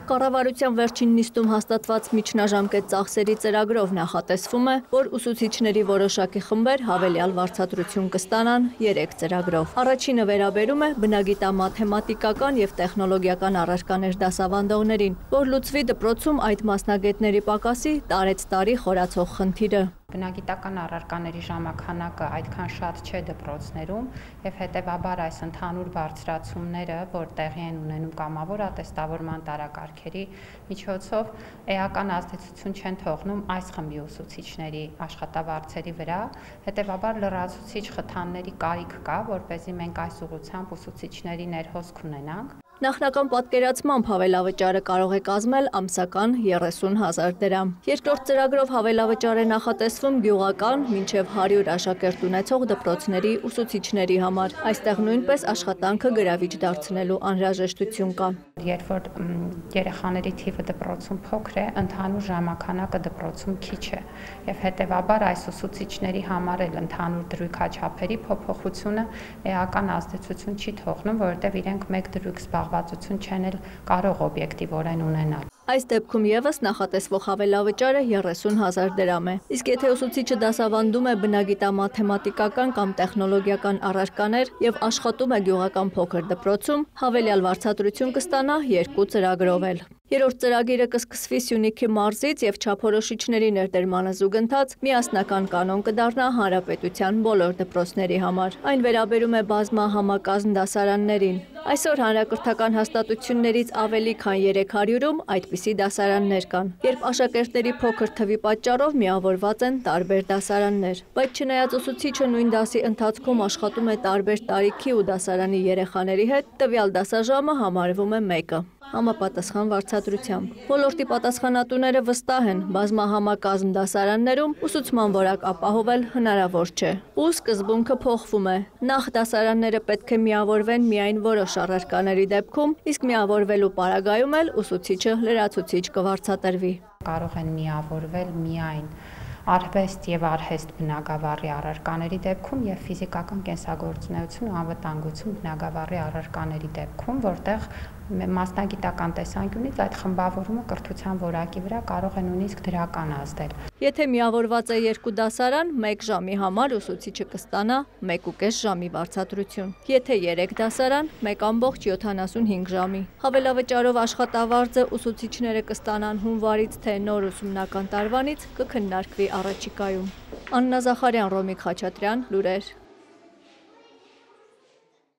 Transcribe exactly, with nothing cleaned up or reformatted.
Կառավարության վերջին նիստում հաստատված միջնաժամկետ ծախսերի ծրագրով նախատեսվում է, որ ուսուցիչների որոշակի խմբեր հավելյալ վարձատրություն կստանան երեք ծրագրով։ Առաջինը վերաբերում է բնագիտամաթեմատիկական և տեխնոլոգիական առարկաներ դասավանդողներին, որ լուծվի դպրոցում այդ մասնագետների պակասի տարեցտարի խորացող խնդիրը։ Բնագիտական առարկաների ժամանականակը այդքան շատ չէ դպրոցներում եւ հետեւաբար այս ընդհանուր բարձրացումները, որ տեղի են ունենում կամավոր ատեստավորման տարակարգերի միջոցով, էական ազդեցություն չեն թողնում այս խմբի ուսուցիչների աշխատավարձերի վրա, հետեւաբար լրացուցիչ խթանների կարիք կա, որպեսզի մենք այս ուղղությամբ ուսուցիչների ներհոսք ունենանք։ Նախնական պատկերացմամբ հավելավճարը կարող է կազմել ամսական երեսուն հազար դրամ։ Երկրորդ ծրագրով հավելավճար է նախատեսվում գյուղական մինչև հարյուր աշակերտ ունեցող դպրոցների ուսուցիչների համար։ Այստեղ նույնպես աշխատանքը գրավիչ դարձնելու անհրաժեշտություն կա։ Երբ որ երեխաների թիվը դպրոցում փոքր է, ընդհանուր ժամանականակը դպրոցում քիչ է, եւ հետեւաբար այս ուսուցիչների համար էլ ընդհանուր դրույքաչափերի փոփոխությունը էական ազդեցություն չի թողնում, որովհետեւ իրենք մեկ դրույք զբաղվածություն չեն էլ կարող օբյեկտիվորեն ունենալ։ Այս դեպքում եւս նախատեսվող հավելավճարը երեսուն հազար դրամ է։ Իսկ եթե ուսուցիչը դասավանդում է բնագիտամաթեմատիկական կամ տեխնոլոգիական առարկաներ եւ աշխատում է գյուղական փոքր դպրոցում, հավելյալ վարձատրություն կստանա երկու ծրագրով էլ։ Երրորդ ծրագիրը կսկսվի Սյունիքի մարզից եւ չափորոշիչների ներդրմանը զուգընթաց միասնական կանոն կդառնա հանրապետության բոլոր դպրոցների համար։ Այն վերաբերում է բազմահամակազմ դասարաններին։ Այսօր հանրակրթական հաստատություններից ավելի քան երեք հարյուրում այդպիսի դասարաններ կան, երբ աշակերտների փոքր թվի պատճառով միավորված են տարբեր դասարաններ։ Բայց չնայած ուսուցիչը նույն դասի ընթացքում աշխատում է տարբեր տարիքի ու դասարանի երեխաների հետ, տվյալ դասաժամը համարվում է մեկը համապատասխան վարձատրությամբ։ Ոլորտի պատասխանատուները վստահ են, բազմահամակազմ դասարաններում ուսուցման որակ ապահովել հնարավոր չէ։ Ու սկզբունքը փոխվում է։ Նախ դասարանները պետք է միավորվեն միայն որոշ առարկաների դեպքում, իսկ միավորվելու պարագայում էլ ուսուցիչը լրացուցիչ կվարձատրվի։ Կարող են միավորվել միայն արհեստ եւ արհեստ բնագավառի առարկաների դեպքում եւ ֆիզիկական կենսագործունեություն ու անվտանգություն բնագավառի առարկաների դեպքում, որտեղ մասնագիտական տեսանկյունից այդ խմբավորումը կրթության որակի վրա կարող է նույնիսկ դրական ազդել։ Եթե միավորված է երկու դասարան, մեկ ժամի համար ուսուցիչը կստանա մեկ ու կես ժամի վարձատրություն։ Եթե երեք դասարան, մեկ ամբողջ յոթանասունհինգ ժամի։ Հավելավճարով աշխատավարձը ուսուցիչները կստանան հունվարից թե նոր ուսումնական տարվանից կքննարկվի առաջիկայում։ Աննա Զախարյան, Ռոմիկ Խաչատրյան, լուրեր։